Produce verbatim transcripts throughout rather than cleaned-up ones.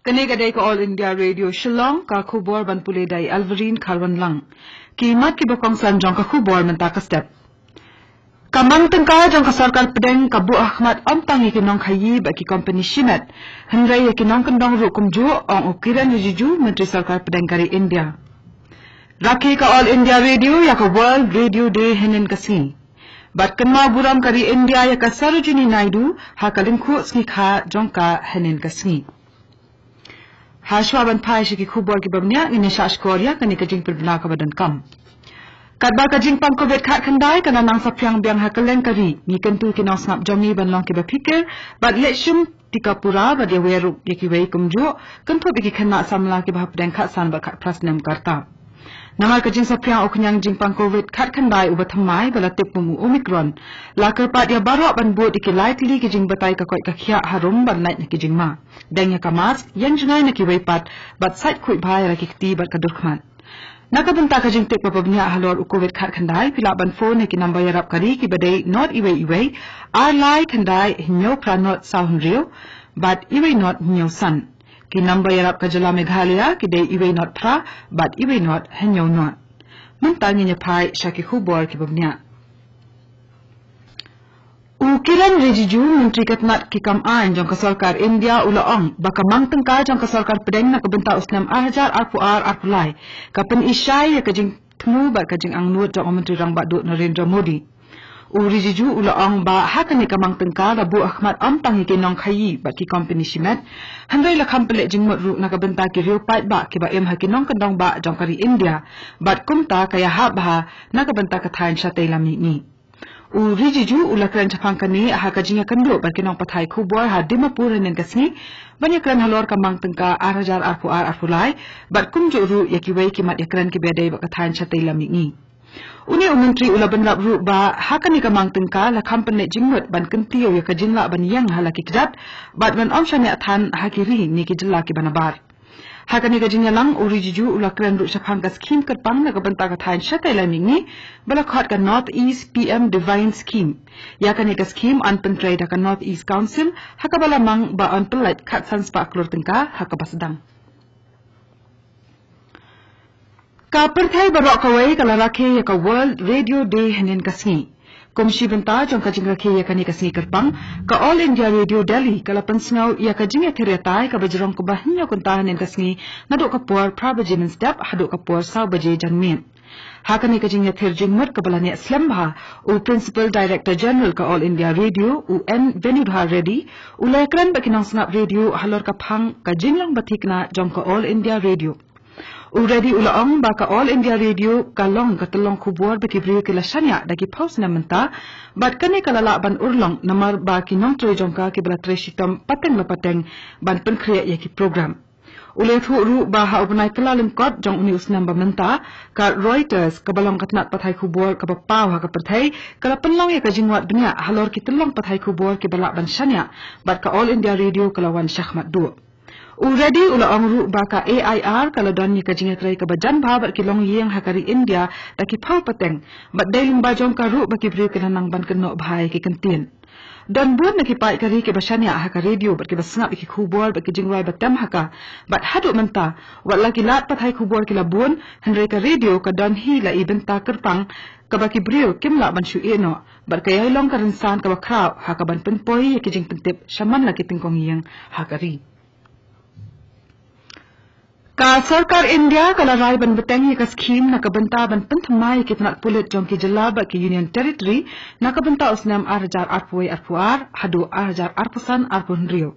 Kane ka dei ka All India Radio Shillong, ka khubor ban pule da i Alverine Kharwanlang. Ki mat kiba kongsan jong ka khubor mynta ka step. Ka mang tyngka jong ka sorkar pdeng ka buh ha khmat ym tang ïa ki nongkhaïi bad ki kompani shimet, hynrei ïa ki nongkyndong ruh kumjuh, ong u Kiren Rijiju, Myntri Sorkar Pdeng ka ri India. Rakhe ka All India Radio ïa ka World Radio Day hynnin ka sngi. Bad kynmaw burom ka ri India ïa ka Sarojini Naidu ha ka lyngkhuh sngi kha jong ka hynnin ka sngi. Hashwa ban phai sha ki khubor kiba bniah, ngin ïa shah shkor ïa kane ka jingpynbna kaba donkam. Katba ka jingpang Covid khatkhyndai ka la nang saphriang biang ha kylleng ka ri, ngi kyntu ki nongsngap jong ngi ban long kiba phikir bad leh shim tika pura bad ïawer ruh ïa kiwei kumjuh, kynthup ïa ki khynnah samla kiba hapdeng khatsan bad khatphra snem ka rta. Namar ka jingsaphriang u khñiang jingpang Covid khatkhyndai uba thymmai ba la tip kum u Omicron, la kyrpad ïa baroh ban bud ïa ki lai tylli ki jingbatai ka koit ka khiah harum ban lait na ki jingma. Deng ïa ka mask, ïeng jngai na kiwei pat, bad sait khuid bha ïa la ki kti bad ka dur khmat. Na ka bynta ka jingtip ba bniah halor u Covid khatkhyndai, phi lah ban phone ha ki number ïarap ka ri kiba dei not iwei iwei, ar lai khyndai hynñiew phra not saw hynriew, bad iwei not hynñiew san. Ki number ïarap ka jylla Meghalaya ki dei iwei not phra bad iwei not hynñiew not. Mynta ngin ïa phai sha ki khubor kiba bniah. U Kiren Rijiju, Myntri ka tnat ki kam aiñ jong ka sorkar India, u la ong ba ka mang tyngka jong ka sorkar pdeng na ka bynta u snem ar hajar arphew ar arphew lai ka pyni shai ïa ka jingthmu bad ka jingangnud jong u Myntri Rangbah Duh Narendra Modi. U Rijiju u la ong ba ha kane ka mang tyngka la buh ha khmat ym tang ïa ki nongkhaïi bad ki kompani shimet, hynrei la kham pynleh jingmut ruh na ka bynta ki riew paidbah kiba im ha ki nongkyndong bah jong ka ri India, bad kumta ka ïahap bha na ka bynta ka thaiñ shatei lam mihngi. U Rijiju u la kren shaphang kane ha ka jingïakynduh bad ki nongpathai khubor ha Dimapur hynnin ka sngi, ban ïakren halor ka mang tyngka ar hajar arphew ar arphew lai, bad kumjuh ruh ïa kiwei ki mat ïakren kiba dei bad ka thaiñ shatei lam mihngi. Une u Myntri u la bynrap ruh ba ha kane ka mang tyngka la kham pynleh jingmut ban kyntiew ïa ka jinglah ban ïeng ha la ki kjat, bad ban ym shaniah than ha ki ri ne ki jylla kiba nabar. Ha kane ka jingïalang, u Rijiju u la kren ruh shaphang ka skhim kyrpang na ka bynta ka thaiñ shatei lam mihngi, ba la khot ka North East P M Divine Scheme. Ïa kane ka skhim yn pyntrei da ka North East Council, ha kaba la mang ba yn pynlait khatsan spah klur tyngka ha kaba sdang. Ka pyrthei baroh kawei ka la rakhe ïa ka World Radio Day hynnin ka sngi. Kum shi bynta jong ka jingrakhe ïa kane ka sngi kyrpang, ka All India Radio Delhi ka la pynsngew ïa ka jingïathir ïatai kaba jrong kumba hynñiew kynta hynnin ka sngi, naduh ka por phra baje mynstep haduh ka por saw baje janmiet. Ha kane ka jingïathir jingmut kaba la neh slem bha, u Principal Director General ka All India Radio, u N Venudhar Reddy, u la ïakren bad ki nongsngap radio halor ka phang ka jinglong ba thikna jong ka All India Radio. U Reddy u la ong ba ka All India Radio ka long ka tyllong khubor ba ki briew ki la shaniah da ki phew snem mynta, bad kane ka la lah ban urlong namar ba ki nongtrei jong ka kiba la trei shitom pateng la pateng ban pynkhreh ïa ki program. U la ïathuh ruh ba ha u bnai Kyllalyngkot jong une u snem ba mynta, ka Reuters kaba long ka tnat pathai khubor kaba paw ha ka pyrthei, ka la pynlong ïa ka jingwad bniah halor ki tyllong pathai khubor kiba lah ban shaniah, bad ka All India Radio ka la wan shakhmat duh. U Reddy u la ong ruh ba ka A I R ka la don ïa ka jingïatrei kaba jan bha bad ki longïing ha ka ri India da ki phew pateng, bad dei lyngba jong ka ruh ba ki briew ki la nang ban kynnoh bha ïa ki kyntien. Don bun na ki paid ka ri kiba shaniah ha ka radio bad kiba sngap ïa ki khubor bad ki jingrwai ba tem ha ka. Bad haduh mynta, wat la ki lad pathai khubor ki la bun, hynrei ka radio ka don hi la i bynta kyrpang kaba ki briew kim lah ban shu ïeh noh, bad ka ïai long ka rynsan kaba khraw ha kaban pynpoi ïa ki jingpyntip shaman la ki tyngkong ïing ha ka ri. Ka sorkar India ka la rai ban bteng ïa ka skhim na ka bynta ban pynthymmai ïa ki tnat pulit jong ki jylla bad ki Union Territory na ka bynta u snem ar hajar arphew wei arphew ar haduh ar hajar arphew san arphew hynriew.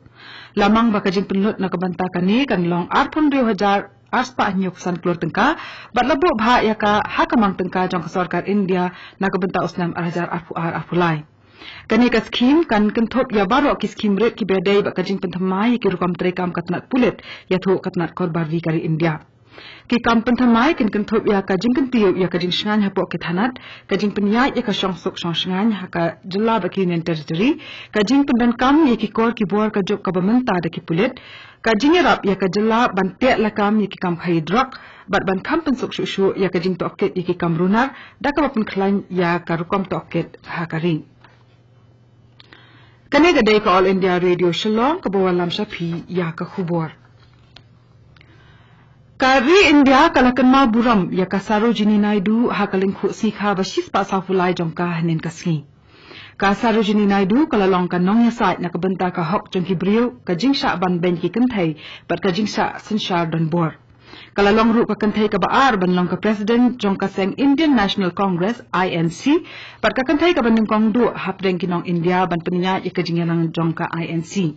La mang ba ka jingpynlut na ka bynta kane kan long arphew hynriew hajar ar spah hynñiew phew san klur tyngka, bad la buh bha ïa ka ha ka mang tyngka jong ka sorkar India na ka bynta u snem ar hajar arphew ar arphew lai. Kane ka skhim kan kynthup ïa baroh ki skhim rit kiba dei bad ka jingpynthymmai ïa ki rukom treikam ka tnat pulit, ïathuh ka tnat korbar ri ka ri India. Ki kam pynthymmai kin kynthup ïa ka jingkyntiew ïa ka jingshngaiñ hapoh ki thanat, ka jingpynïaid ïa ka shongsuk shongshngaiñ ha ka jylla bad ki Union Territory, ka jingpyndonkam ïa ki kor ki bor ka juk kaba mynta da ki pulit, ka jingïarap ïa ka jylla ban teh lakam ïa ki kam khaïi drok, bad ban kham pynsuk shuh shuh ïa ka jingtohkit ïa ki kam runar, da kaba pynkhlaiñ ïa ka rukom tohkit ha ka ri. Kane ka dei ka All India Radio Shillong kaba wallam sha phi ïa ka khubor. Ka ri India ka la kynmaw burom ïa ka Sarojini Naidu ha ka lyngkhuh sngi kha ba shispah sawphew lai jong ka hynnin ka sngi. Ka Sarojini Naidu ka la long ka nongïasaid na ka bynta ka hok jong ki briew, ka jingshah ban beiñ ki kynthei bad ka jingshah synshar donbor. Ka la long ruh ka kynthei kaba ar ban long ka president jong ka seng Indian National Congress, I N C, bad ka kynthei kaba nyngkong duh hapdeng ki nong India ban pynïaid ïa ka jingïalang jong ka I N C.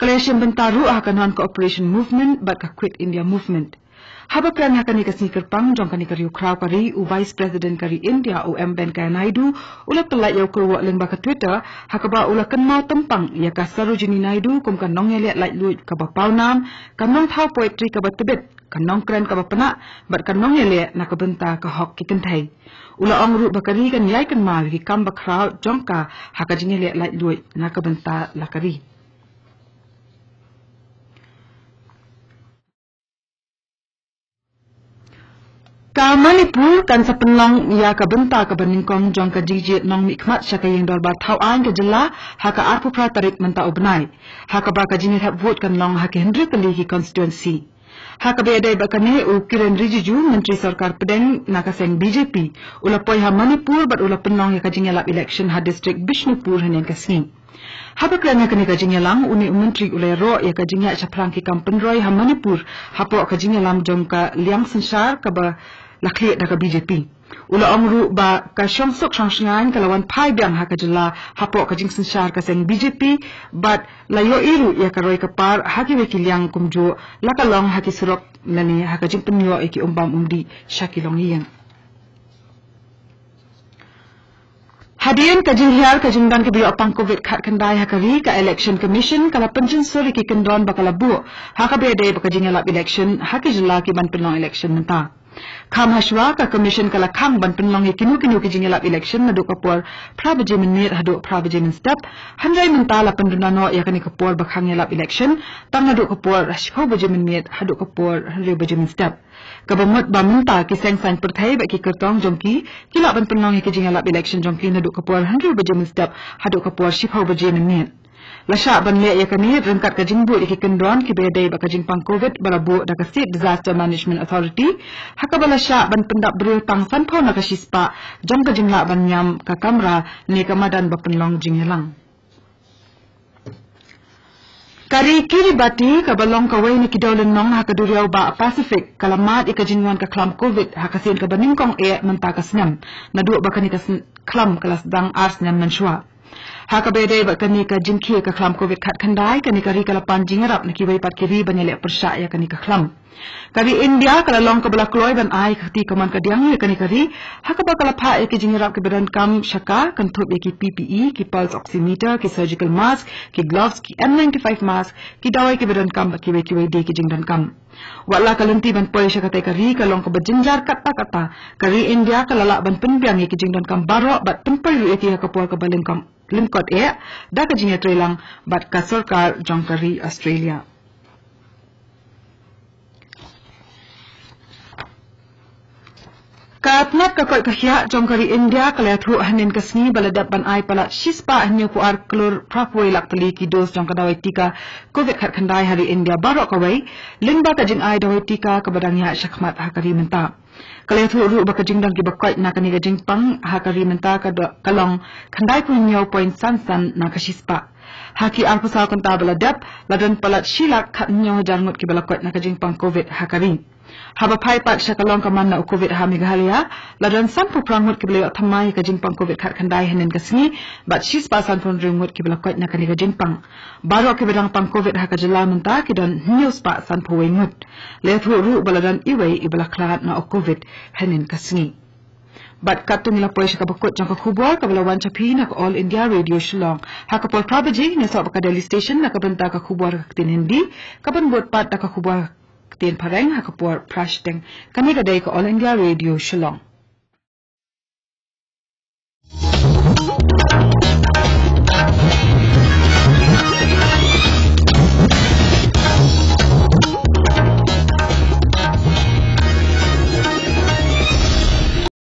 Ka la ïashim bynta ruh ha ka non-cooperation movement bad ka Quit India Movement. Haba kren ha kane ka sngi kyrpang jong kane ka riewkhraw ka ri, u Vice President ka ri India, u M Venkaiah Naidu, u la tyllait ïa u kyrwoh lyngba ka Twitter ha kaba u la kynmaw tympang ïa ka Sarojini Naidu kum ka nongïaleh laitluid kaba pawnam, ka nongthaw poetry kaba tbit, ka nongkren kaba pnah bad ka nongïaleh na ka bynta ka hok ki kynthei. U la ong ruh ba ka ri kan ïai kynmaw ïa ki kam bakhraw jong ka ha ka jingïaleh laitluid na ka bynta la ka ri. Ka Manipur kan sa pynlong ïa ka bynta kaba nyngkong jong ka jingjied nongmihkhmat sha ka ïing dorbar thaw aiñ ka jylla ha ka arphew phra tarik mynta u bnai, ha kaba ka jingïarap vote kan long ha ki hynriew tylli ki constituency. Ha kaba ïadei bad kane, u Kiren Rijiju, Myntri Sorkar Pdeng na ka seng B J P, u la poi ha Manipur bad u la pynlong ïa ka jingïalap election ha district Bishnupur hynnin ka sngi. Haba kren ha kane ka jingïalang, une u Myntri u la ïaroh ïa ka jingïaid shaphrang ki kam pynroi ha Manipur hapoh ka jingïalam jong ka liang synshar kaba la khlieh da ka B J P. U la ong ruh ba ka shongsuk shongshngaiñ ka la wan phai biang ha ka jylla hapoh ka jingsynshar ka seng B J P bad la ïohi ruh ïa ka roi ka par ha kiwei ki liang kumjuh, la ka long ha ki surok lane ha ka jingpynïoh ïa ki umbam umdih sha ki longïing. Hadien ka jinghiar ka jingdon kiba ïoh pang covid khatkhyndai ha ka ri, ka Election Commission ka la pynjynsur ïa ki kyndon ba ka la buh ha kaba ïadei bad ka jingïalap election ha ki jylla kiban pynlong election mynta. Kham hashwa, ka Commission ka la khang ban pynlong ïa kino kino ki jingïalap election naduh ka por phra baje mynmiet haduh phra baje mynstep. Hynrei mynta la pynduna noh ïa kane ka por ba khang ïalap election tang naduh ka por shiphew baje mynmiet haduh ka por hynriew baje mynstep. Kaba mut ba mynta ki seng saiñ pyrthei bad ki kyrtong jong ki, ki lah ban pynlong ïa ki jingïalap election jong ki naduh ka por hynriew baje mynstep haduh ka por shiphew baje mynmiet. La shah ban leh ïa kane ryngkat ka jingbud ïa ki kyndon kiba ïadei bad ka jingpang covid ba la buh da ka State Disaster Management Authority, ha kaba la shah ban pyndap briew tang sanphew na ka shispah jong ka jinglah ban ñiam ka kamra ne ka madan ba pynlong jingïalang. Ka ri Kiribati, kaba long kawei na ki dewlynnong ha ka duriaw bah Pacific, ka la mad ïa ka jingwan ka khlam covid ha ka sien kaba nyngkong eh mynta ka snem, naduh ba kane ka sn-, khlam ka la sdang ar snem mynshuwa. Ha kaba ïadei bad kane ka jingkhie ka khlam covid khatkhyndai, kane ka ri ka la pan jingïarap na kiwei pat ki ri ban ïaleh pyrshah ïa kane ka khlam. Ka ri India ka la long kaba la kloi ban ai ka kti kamon kadiang ïa kane ka ri, ha kaba ka la phah ïa ki jingïarap kiba donkam sha ka, kynthup ïa ki P P E, ki pulse oximeter, ki surgical mask, ki gloves, ki N ninety-five mask, ki dawai kiba donkam bad kiwei kiwei de ki jingdonkam. Wat la ka lynti ban poi sha katei ka ri ka long kaba jynjar katta katta, ka ri India ka la lah ban pynbiang ïa ki jingdonkam baroh bad pynpoi ruh ïa ki ha ka por kaba lyngkot, lyngkot eh da ka jingïatreilang bad ka sorkar jong ka ri Australia. Ka tnat ka koit ka khiah jong ka ri India ka la ïathuh hynnin ka sngi ba la dep ban ai palat shispah hynñiewphew ar klur phraphew lak tylli ki dos jong ka dawai tika covid khatkhyndai ha ri India baroh kawei, lyngba ka jingai dawai tika kaba dang ïaid shakhmat ha ka ri mynta. Ka la ïathuh ruh ba ka jingdon kiba koit na kane ka jingpang ha ka ri mynta ka do-, ka long khyndaiphew hynñiew point san san na ka shispah. Ha ki arphew saw kynta ba la dep, la don palat shi lak khathynñiew hajar ngut kiba la koit na ka jingpang covid ha ka ri. Haba phai pat sha ka long ka man na u covid ha Meghalaya, la don sanphew phra ngut kiba la ïoh thymmai ha ka jingpang covid khatkhyndai hynnin ka sngi, bad shispah sanphew hynriew ngut kiba la koit na kane ka jingpang. Baroh kiba dang pang covid ha ka jylla mynta ki don hynñiewspah sanphew wei ngut. La ïathuh ruh ba la don iwei iba la khlad na u covid hynnin ka sngi. Bad katto ngi la poi sha kaba kut jong ka khubor kaba la wan sha phi na ka All India Radio Shillong. Ha ka por phra baje ngin ïasoh bad ka Delhi Station na ka bynta ka khubor ka ktien Hindi, kaban bud pat da ka khubor ka ktien Phareng ha ka por phra shiteng. Kane ka dei ka All India Radio Shillong.